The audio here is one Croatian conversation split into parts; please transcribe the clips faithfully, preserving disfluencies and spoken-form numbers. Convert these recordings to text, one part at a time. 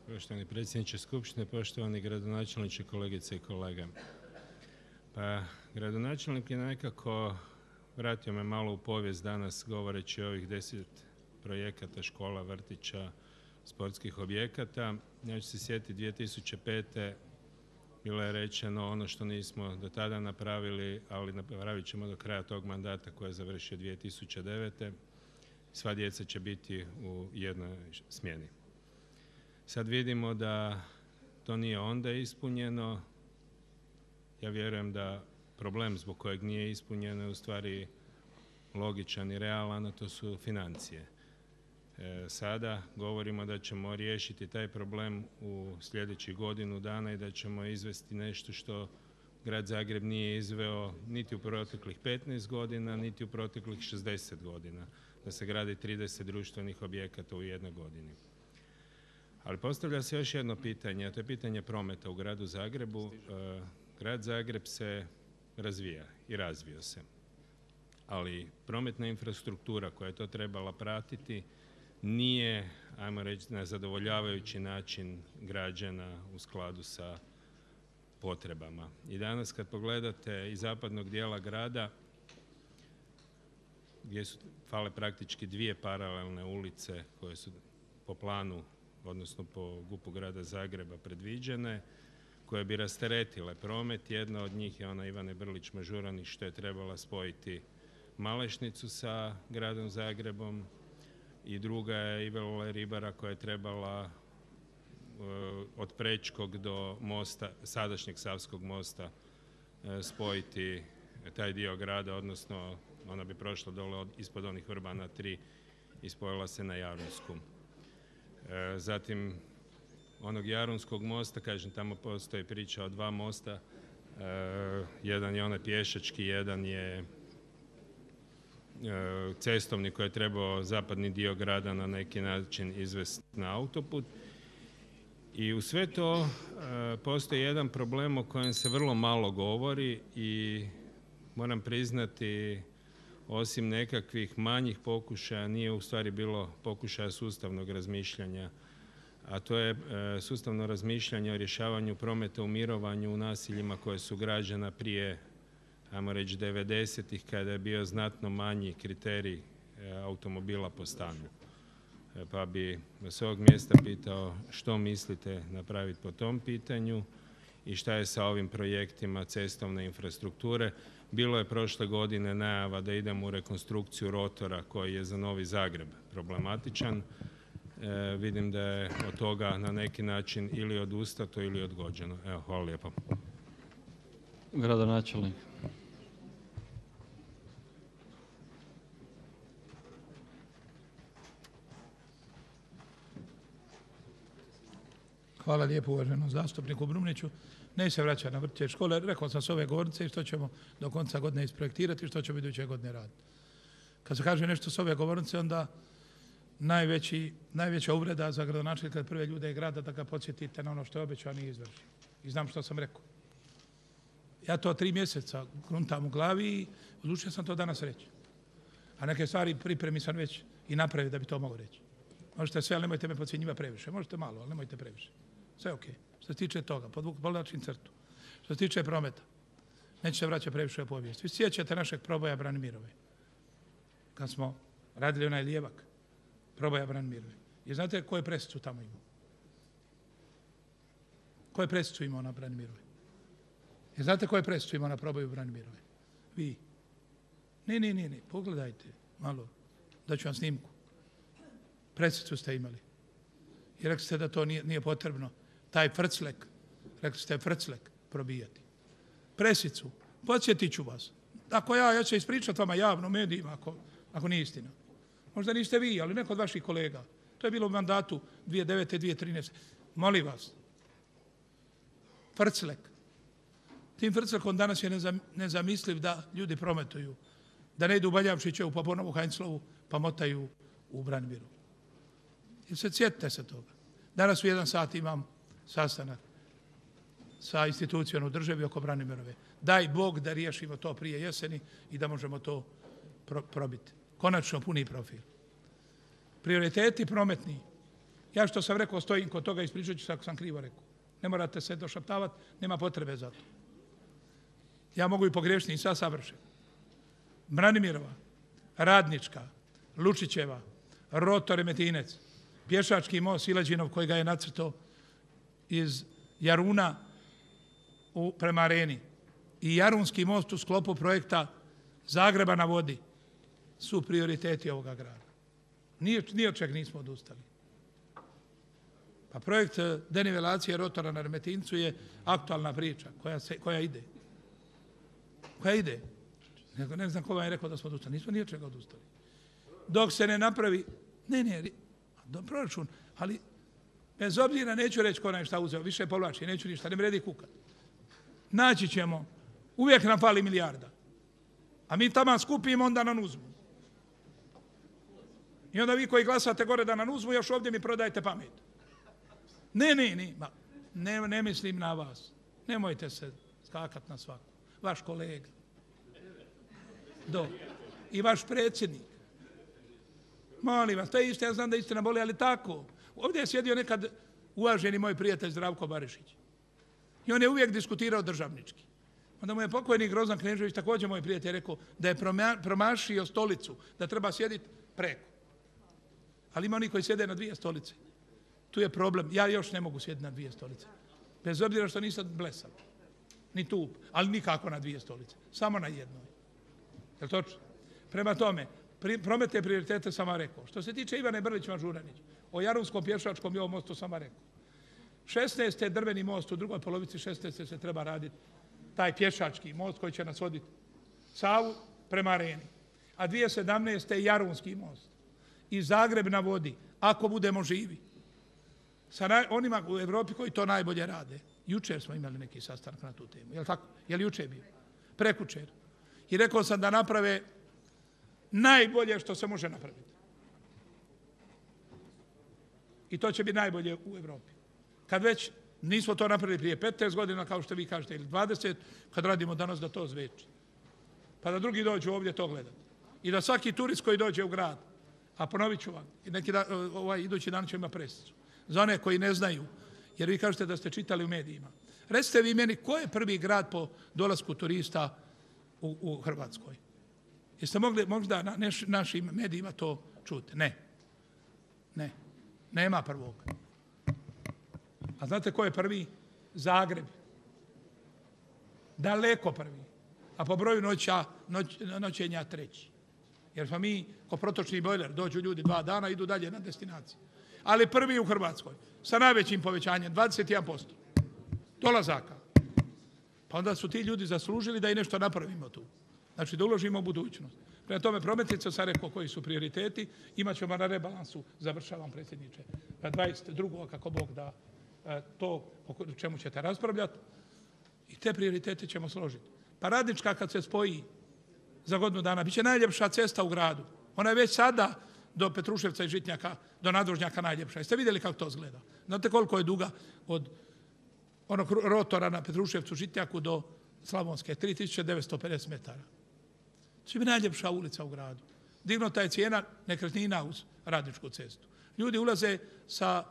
Poštovani predsjedniče Skupštine, poštovani gradonačelniče, kolegice i kolege. Pa, gradonačelnik je nekako vratio me malo u povijest danas govoreći o ovih deset projekata škola, vrtića, sportskih objekata. Ja ću se sjetiti dvije tisuće pete. bilo je rečeno ono što nismo do tada napravili, ali napravit ćemo do kraja tog mandata koji je završio dvije tisuće devete. Sva djeca će biti u jednoj smjeni. Sad vidimo da to nije onda ispunjeno. Ja vjerujem da problem zbog kojeg nije ispunjeno je u stvari logičan i realan, a to su financije. E, sada govorimo da ćemo riješiti taj problem u sljedećih godinu dana i da ćemo izvesti nešto što Grad Zagreb nije izveo niti u proteklih petnaest godina, niti u proteklih šezdeset godina, da se gradi trideset društvenih objekata u jednoj godini. Ali postavlja se još jedno pitanje, a to je pitanje prometa u Gradu Zagrebu. E, Grad Zagreb se razvija i razvio se, ali prometna infrastruktura koja je to trebala pratiti nije, ajmo reći, na zadovoljavajući način građena u skladu sa potrebama. I danas kad pogledate iz zapadnog dijela grada, gdje su fale praktički dvije paralelne ulice koje su po planu, odnosno po G U P-u Grada Zagreba predviđene, koje bi rasteretile promet. Jedna od njih je ona Ivane Brlić-Mažuranić, što je trebala spojiti Malešnicu sa Gradom Zagrebom, i druga je Ivele Ribara koja je trebala uh, od Prečkog do mosta, sadašnjeg Savskog mosta uh, spojiti taj dio grada, odnosno ona bi prošla dole od, ispod onih Vrbana tri i spojila se na Jarunsku. Uh, zatim onog Jarunskog mosta, kažem, tamo postoji priča o dva mosta, uh, jedan je onaj pješački, jedan je cestovni koji je trebao zapadni dio grada na neki način izvesti na autoput. I u sve to e, postoji jedan problem o kojem se vrlo malo govori i moram priznati, osim nekakvih manjih pokušaja, nije u stvari bilo pokušaja sustavnog razmišljanja, a to je e, sustavno razmišljanje o rješavanju prometa u mirovanju u naseljima koje su građena prije, ajmo reći, devedesetih, kada je bio znatno manji kriterij e, automobila po stanu. E, pa bi s ovog mjesta pitao što mislite napraviti po tom pitanju i šta je sa ovim projektima cestovne infrastrukture. Bilo je prošle godine najava da idemo u rekonstrukciju rotora koji je za Novi Zagreb problematičan. E, vidim da je od toga na neki način ili odustato ili odgođeno. Evo, hvala lijepo. Gradonačelnik. Hvala lijepo uvaženom zastupniku Brumniću. Ne se vraća na vrtiće škole. Rekao sam s ove govornice što ćemo do konca godine isprojektirati i što ćemo iduće godine raditi. Kad se kaže nešto s ove govornice, onda najveći, najveća uvreda za gradonačelnika kad prve ljude grada da ga podsjetite na ono što je obećano i izvrši. I znam što sam rekao. Ja to tri mjeseca gruntam u glavi i odlučio sam to danas reći. A neke stvari pripremi sam već i napravio da bi to mogao reći. Možete sve, ali nemojte me podcjenjivati previše. Možete malo, ali nemojte previše. Sve ok. Što se tiče toga, podvlačim crtu. Što se tiče prometa, neće se vraćati previše u povijest. Vi sjećate našeg proboja Branimirove. Kad smo radili onaj lijevak, proboja Branimirove. I znate koje presicu tamo imao? Koje presicu imao na Branimirove? I znate koje presicu imao na proboju Branimirove? Vi. Ne, ne, ne, ne. Pogledajte malo. Daću vam snimku. Presicu ste imali. I rekli ste da to nije, nije potrebno. Taj frclek, rekli ste frclek probijati. Presicu. Podsjetit ću vas. Ako ja, ja ću ispričati vama javno, medijima, ako, ako nije istina. Možda niste vi, ali neko od vaših kolega. To je bilo u mandatu dvije tisuće devete. dvije tisuće trinaeste. Molim vas. Frclek. Tim frclekom danas je nezamisliv da ljudi prometuju. Da ne idu u Baljavšićevu, pa ponovo u Heinzlovu, pa motaju u Branimiru. I se sjetite se toga. Danas u jedan sat imam sastanak sa institucijom u državi oko Branimirove. Daj Bog da riješimo to prije jeseni i da možemo to pro- probiti. Konačno puni profil. Prioriteti prometni Ja što sam rekao stojim kod toga, ispričat ću se ako sam krivo rekao. Ne morate se došaptavati, nema potrebe za to. Ja mogu i pogriješiti i sad savršen. Branimirova, Radnička, Lučićeva, Roto Remetinec, pješački most Silađinov koji ga je nacrtao iz Jaruna u, prema Areni i Jarunski most u sklopu projekta Zagreba na vodi su prioriteti ovoga grada. Nije, nije od čeg nismo odustali. Pa projekt denivelacije rotora na Remetincu je aktualna priča koja, se, koja ide. Koja ide. Ne, ne znam ko vam je rekao da smo odustali. Nismo nije od čega odustali. Dok se ne napravi, ne, ne, do proračun, ali bez obzira neću reći ko nam je šta uzeo, više povlači, neću ništa, ne vredi kukat. Naći ćemo, uvijek nam fali milijarda. A mi tamo skupimo, onda nam uzmu. I onda vi koji glasate gore da nam uzmu, još ovdje mi prodajete pamet. Ne, ne, ne, ma, ne, ne mislim na vas. Nemojte se skakat na svaku. Vaš kolega. Do. I vaš predsjednik. Molim vas, to je isto, ja znam da istina boli, ali tako. Ovdje je sjedio nekad uvaženi moj prijatelj Zdravko Barišić. I on je uvijek diskutirao državnički. Onda mu je pokojni Grozan Knežević, također moj prijatelj, rekao da je promašio stolicu, da treba sjediti preko. Ali ima oni koji sjede na dvije stolice. Tu je problem. Ja još ne mogu sjediti na dvije stolice. Bez obzira što nisam blesav. Ni tup, ali nikako na dvije stolice. Samo na jednoj. Je li točno? Prema tome, pri, prometne prioritete sam vam rekao. Što se tiče Ivane Brlić-Mažuranić, o Jarunskom pješačkom i ovom mostu sam vam rekao. šesnaeste. drveni most u drugoj polovici šesnaeste. se treba raditi taj pješački most koji će nas voditi Savu prema Areni. A dvije tisuće sedamnaeste. Jarunski most. I Zagreb na vodi, ako budemo živi. Sa naj, onima u Evropi koji to najbolje rade. Jučer smo imali neki sastanak na tu temu. Je li tako? Je li jučer bio? Prekučer. I rekao sam da naprave najbolje što se može napraviti. I to će biti najbolje u Evropi. Kad već nismo to napravili prije petnaest godina, kao što vi kažete, ili dvadeset, kad radimo danas da to zveči. Pa da drugi dođu ovdje to gledati. I da svaki turist koji dođe u grad, a ponovit ću vam, neki da, ovaj idući dan ćemo imati presicu. Za one koji ne znaju, jer vi kažete da ste čitali u medijima. Recite vi meni, ko je prvi grad po dolasku turista u, u Hrvatskoj? Jeste mogli možda na neš, našim medijima to čuti? Ne. Ne. Nema prvog. A znate ko je prvi? Zagreb. Daleko prvi. A po broju noća, noć, noćenja treći. Jer smo mi, ko protočni bojler, dođu ljudi dva dana, idu dalje na destinaciju. Ali prvi u Hrvatskoj, sa najvećim povećanjem, dvadeset jedan posto dolazaka. Pa onda su ti ljudi zaslužili da i nešto napravimo tu. Znači da uložimo u budućnost. Prema tome, prometnice, sam rekao koji su prioriteti, imat ćemo na rebalansu, završavam predsjedniče, dvadeset drugog kako Bog da to o čemu ćete raspravljati i te prioritete ćemo složiti. Pa Radnička kad se spoji za godinu dana, bit će najljepša cesta u gradu. Ona je već sada do Petruševca i Žitnjaka, do Nadvožnjaka najljepša. Jeste vidjeli kako to izgleda? Znate koliko je duga od onog rotora na Petruševcu, Žitnjaku do Slavonske? tri tisuće devetsto pedeset metara. To će biti najljepša ulica u gradu. Dignuta je cijena nekretnina uz Radničku cestu. Ljudi ulaze sa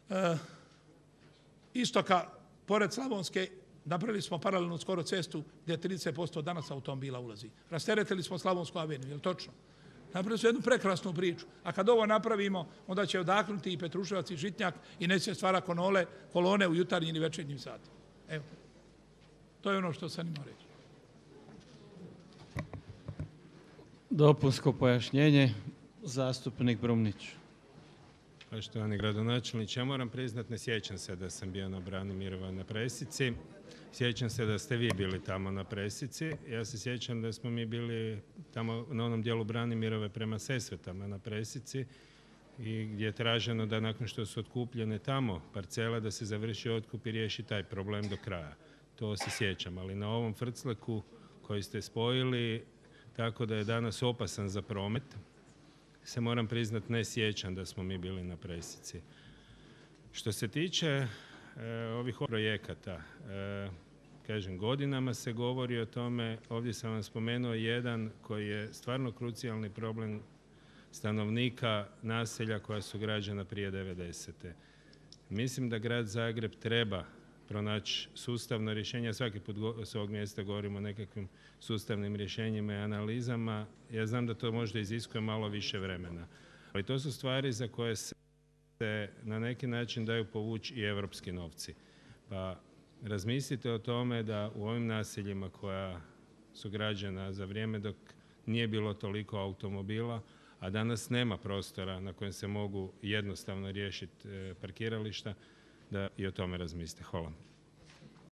uh, istoka, pored Slavonske, napravili smo paralelnu skoro cestu gdje trideset posto danas automobila ulazi. Rasteretili smo Slavonsku aveniju, je li točno? Napravili smo jednu prekrasnu priču. A kad ovo napravimo, onda će odahnuti i Petruševac i Žitnjak i neće stvara konole, kolone u jutarnjim i večernjim satima. Evo. To je ono što sam imao reći. Dopunsko pojašnjenje, zastupnik Brumnić. Poštovani gradonačelniče, ja moram priznat, ne sjećam se da sam bio na Branimirova na presici. Sjećam se da ste vi bili tamo na presici. Ja se sjećam da smo mi bili tamo na onom dijelu Branimirove prema Sesvetama na presici i gdje je traženo da nakon što su otkupljene tamo parcele da se završi otkup i riješi taj problem do kraja. To se sjećam, ali na ovom frcleku koji ste spojili tako da je danas opasan za promet, se moram priznat ne sjećam da smo mi bili na presici. Što se tiče e, ovih projekata, e, kažem, godinama se govori o tome, ovdje sam vam spomenuo jedan koji je stvarno krucijalni problem stanovnika naselja koja su građena prije devedesete. Mislim da grad Zagreb treba pronaći sustavno rješenje. Svaki put s ovog mjesta govorimo o nekakvim sustavnim rješenjima i analizama. Ja znam da to možda iziskuje malo više vremena. Ali to su stvari za koje se na neki način daju povući i europski novci. Pa razmislite o tome da u ovim naseljima koja su građena za vrijeme dok nije bilo toliko automobila, a danas nema prostora na kojem se mogu jednostavno riješiti parkirališta, da i o tome razmislite. Hvala.